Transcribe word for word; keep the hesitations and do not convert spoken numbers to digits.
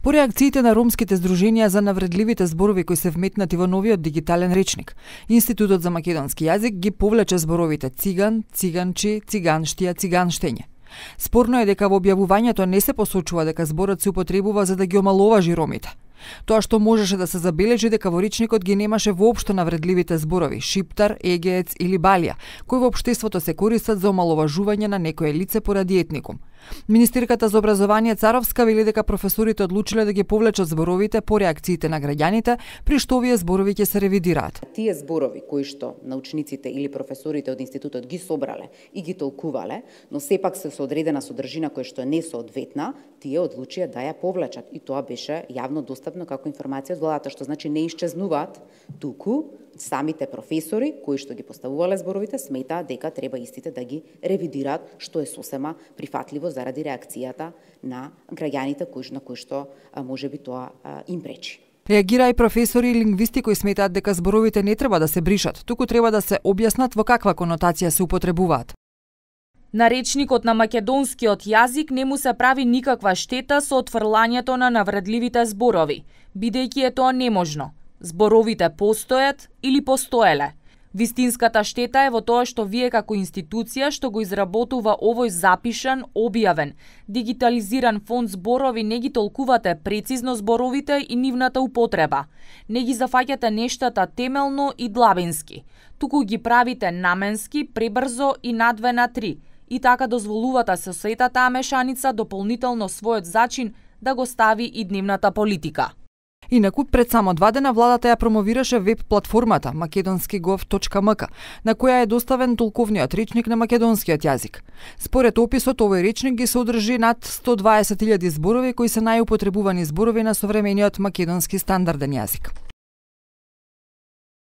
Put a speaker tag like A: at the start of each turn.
A: По реакциите на ромските здруженија за навредливите зборови кои се вметнати во новиот дигитален речник, Институтот за македонски јазик ги повлече зборовите циган, циганчи, циганштија, циганштење. Спорно е дека во објавувањето не се посочува дека зборот се употребува за да ги омаловажи ромите. Тоа што можеше да се забележи дека во речникот ги немаше воопшто навредливите зборови шиптар, егеец или балија, кои во општеството се користат за омаловажување на некое лице поради етникум. Министерката за образование Царовска вели дека професорите одлучиле да ги повлечат зборовите по реакциите на граѓаните, при што овие зборови ќе се ревидираат.
B: Тие зборови кои што научниците или професорите од институтот ги собрале и ги толкувале, но сепак се со одредена содржина која што не соодветна, тие одлучија да ја повлечат и тоа беше јавно достапно како информација од владата, што значи не исчезнуваат, туку самите професори кои што ги поставувале зборовите сметаат дека треба истите да ги ревидираат, што е сосема прифатливо заради реакцијата на граѓаните кои на кои што можеби тоа им пречи.
A: Реагира и професори и лингвисти кои сметаат дека зборовите не треба да се бришат, туку треба да се објаснат во каква конотација се употребуваат.
C: На речникот на македонскиот јазик не му се прави никаква штета со отфрлањето на навредливите зборови, бидејќи е тоа неможно. Зборовите постојат или постоеле. Вистинската штета е во тоа што вие како институција што го изработува овој запишан, објавен, дигитализиран фонд зборови не ги толкувате прецизно зборовите и нивната употреба. Не ги зафаќате нештата темелно и длабински, туку ги правите наменски, пребрзо и на две на три. И така дозволувате со сета таа мешаница дополнително својот зачин да го стави и дневната политика.
A: Инаку, пред само два дена владата ја промовираше веб платформата македонски гов точка ем ка, на која е доставен толковниот речник на македонскиот јазик. Според описот, овој речник ги содржи над сто дваесет илјади зборови кои се најупотребувани зборови на современиот македонски стандарден јазик.